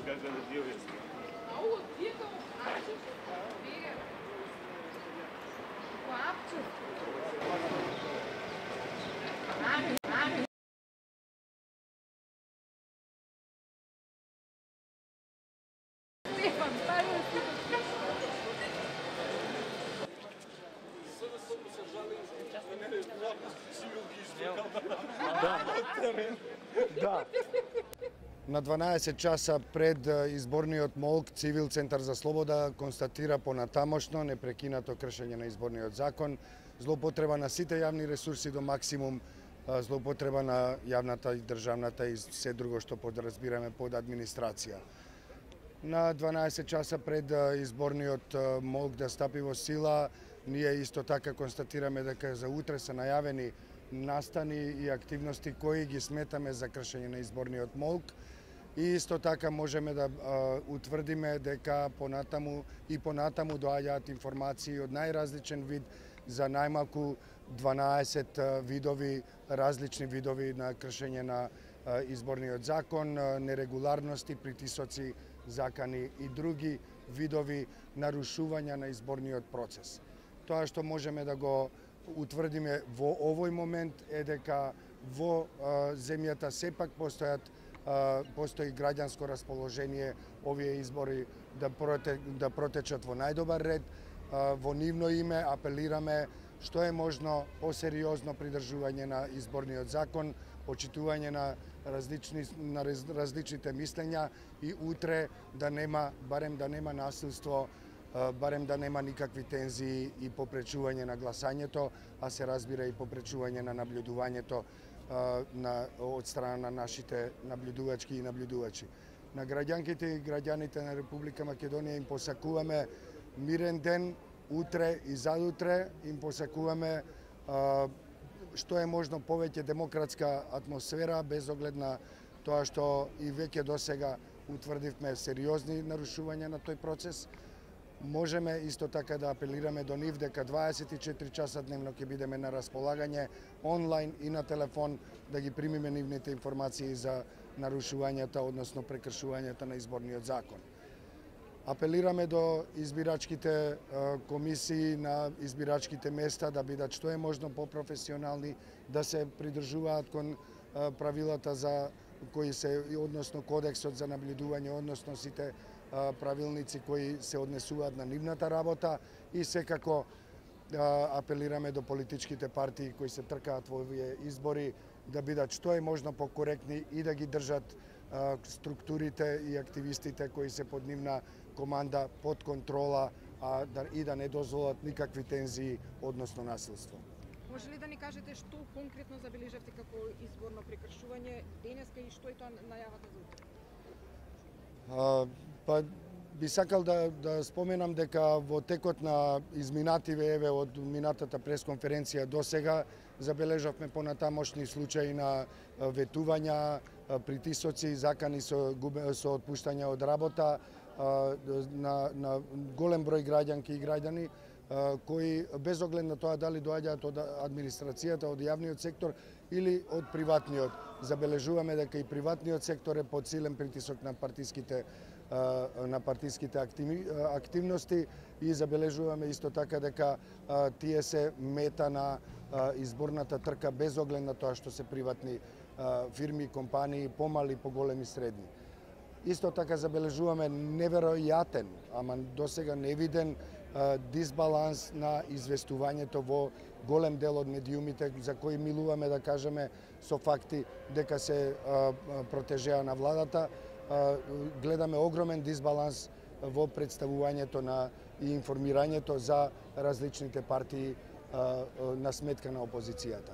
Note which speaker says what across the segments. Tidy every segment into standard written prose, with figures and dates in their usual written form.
Speaker 1: кажа да ти објасни.
Speaker 2: Ау, вие како апче? Вие. Како апче? Стефан, стави си.
Speaker 3: Да. На 12 часа пред изборниот молк, Цивил Центар за слобода констатира понатамошно непрекинато кршење на изборниот закон, злоупотреба на сите јавни ресурси до максимум, злоупотреба на јавната и државната и се друго што подразбираме под администрација. На 12 часа пред изборниот молк да стапи во сила, ние исто така констатираме дека за утре се најавени настани и активности кои ги сметаме за кршење на изборниот молк. И исто така можеме да утврдиме дека понатаму доаѓаат информации од најразличен вид за најмалку 12 видови, различни видови на кршење на изборниот закон, нерегуларности, притисоци, закани и други видови нарушувања на изборниот процес. Тоа што можеме да го утврдиме во овој момент е дека во земјата сепак постои граѓанско расположение овие избори да протечат во најдобар ред. Во нивно име апелираме што е можно посериозно придржување на изборниот закон, почитување на различните мислења и утре барем да нема насилство, барем да нема никакви тензии и попречување на гласањето, а се разбира и попречување на наблюдувањето од страна на нашите наблюдувачки и наблюдувачи. На граѓанките и граѓаните на Република Македонија им посакуваме мирен ден, утре и задутре им посакуваме што е можно повеќе демократска атмосфера, без оглед на тоа што и веќе досега утврдивме сериозни нарушувања на тој процес. Можеме исто така да апелираме до нив дека 24 часа дневно ќе бидеме на располагање онлайн и на телефон да ги примиме нивните информации за нарушувањата, односно прекршувањата на изборниот закон. Апелираме до избирачките комисии на избирачките места да бидат што е можно попрофесионални, да се придржуваат кон правилата за кои се, односно кодексот за наблюдување, односно сите правилници кои се однесуваат на нивната работа и секако апелираме до политичките партии кои се тркаат во овие избори да бидат што е можно покоректни и да ги држат структурите и активистите кои се под нивна команда под контрола и да не дозволат никакви тензии, односно насилство.
Speaker 2: Може ли да ни кажете што конкретно забележавте како изборно прекршување денеска и што е тоа најавата за утре?
Speaker 3: Па би сакал да споменам дека во текот на изминативе од минатата пресконференција до сега забележавме понатамошни случаи на ветувања, притисоци, закани со отпуштање од работа на голем број граѓанки и граѓани кои без оглед на тоа дали доаѓаат од администрацијата, од јавниот сектор или од приватниот. Забележуваме дека и приватниот сектор е под силен притисок на партиските активности и забележуваме исто така дека тие се мета на изборната трка без оглед на тоа што се приватни фирми, компании, помали, поголеми, средни. Исто така забележуваме неверојатен, ама досега невиден дисбаланс на известувањето во голем дел од медиумите за кои милуваме да кажеме со факти дека се протежеа на владата. Гледаме огромен дисбаланс во представувањето и информирањето за различните партии на сметка на опозицијата.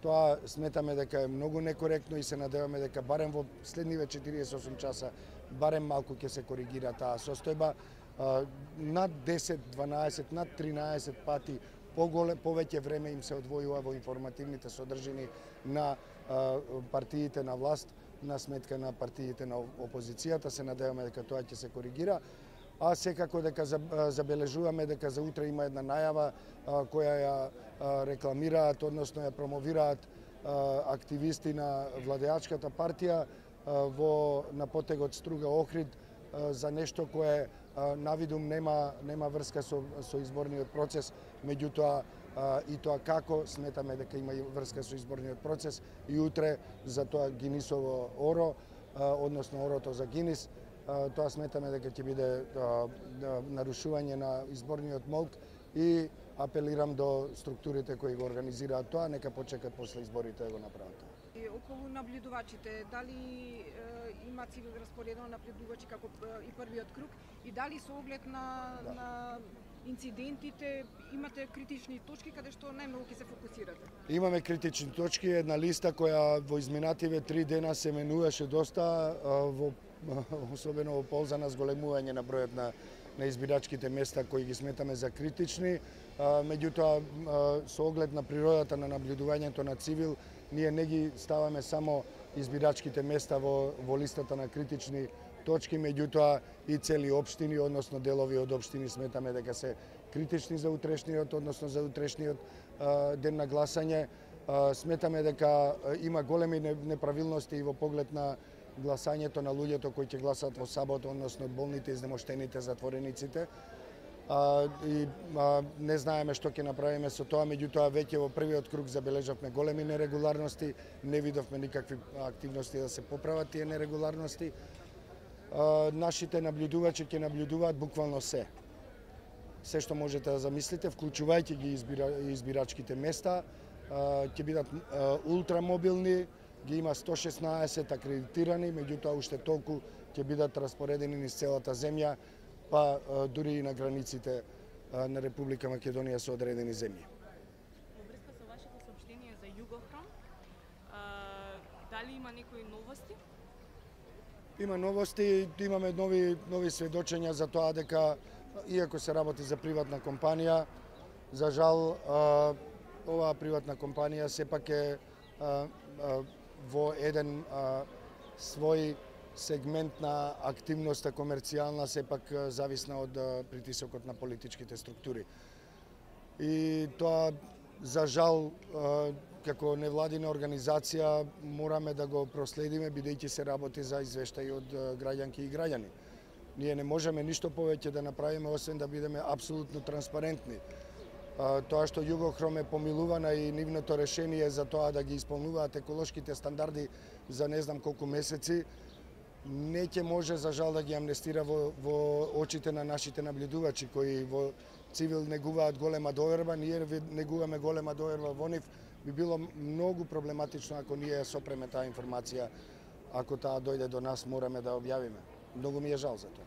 Speaker 3: Тоа сметаме дека е многу некоректно и се надеваме дека барем во следниве 48 часа барем малку ќе се коригира таа состојба. Над 10, 12, над 13 пати повеќе време им се одвојува во информативните содржини на партиите на власт на сметка на партиите на опозицијата. Се надеваме дека тоа ќе се коригира. А секако дека забележуваме дека за утре има една најава која ја рекламираат, односно ја промовираат активисти на владеачката партија на потегот Струга Охрид, за нешто кое навидум нема врска со изборниот процес, меѓутоа и тоа како сметаме дека има врска со изборниот процес и утре за тоа Гинисово оро, односно орото за Гинис, тоа сметаме дека ќе биде нарушување на изборниот молк и апелирам до структурите кои го организираат тоа, нека почекат после изборите да го направат.
Speaker 2: И околу наблюдувачите, дали има цивил распоредено наблюдувачи како и првиот круг и дали со оглед на инцидентите имате критични точки каде што најмногу ќе се фокусирате? Имаме
Speaker 3: критични точки, една листа која во изминативе 3 дена се менуваше доста, особено во полза на зголемување на бројот на избирачките места кои ги сметаме за критични. Меѓутоа, со оглед на природата на наблюдувањето на цивил, ние не ги ставаме само избирачките места во листата на критични точки, меѓутоа и цели општини, односно делови од општини сметаме дека се критични за утрешниот, односно за утрешниот ден на гласање. Сметаме дека има големи неправилности и во поглед на гласањето на луѓето кои ќе гласат во сабота, односно болните, изнемоштените, затворениците. Не знаеме што ќе направиме со тоа, меѓутоа веќе во првиот круг забележавме големи нерегуларности, не видовме никакви активности да се поправат тие нерегуларности. Нашите наблюдувачи ќе наблюдуваат буквално се што можете да замислите, вклучувајќи ги избирачките места, ќе бидат ултрамобилни, ги има 116 акредитирани, меѓутоа уште толку ќе бидат распоредени низ целата земја, па дури и на границите на Република Македонија со одредени земји.
Speaker 1: Во врска со вашето соопштение за Југохром, дали има некои новости?
Speaker 3: Има новости, имаме нови сведочења за тоа дека, иако се работи за приватна компанија, за жал оваа приватна компанија сепак е во еден свој сегмент на активноста комерцијална сепак зависна од притисокот на политичките структури. И тоа, за жал, како невладина организација мораме да го проследиме, бидејќи се работи за извештаи од граѓанки и граѓани. Ние не можеме ништо повеќе да направиме, освен да бидеме апсолутно транспарентни. Тоа што Југохром е помилувана и нивното решение за тоа да ги исполнуваат еколошките стандарди за не знам колку месеци, не ќе може за жал да ги амнестира во очите на нашите наблюдувачи кои во цивил негуваат голема доверба, ние негуваме голема доверба во нив. Би било многу проблематично ако ние сопреме таа информација, ако таа дојде до нас мораме да објавиме. Многу ми е жал за тоа.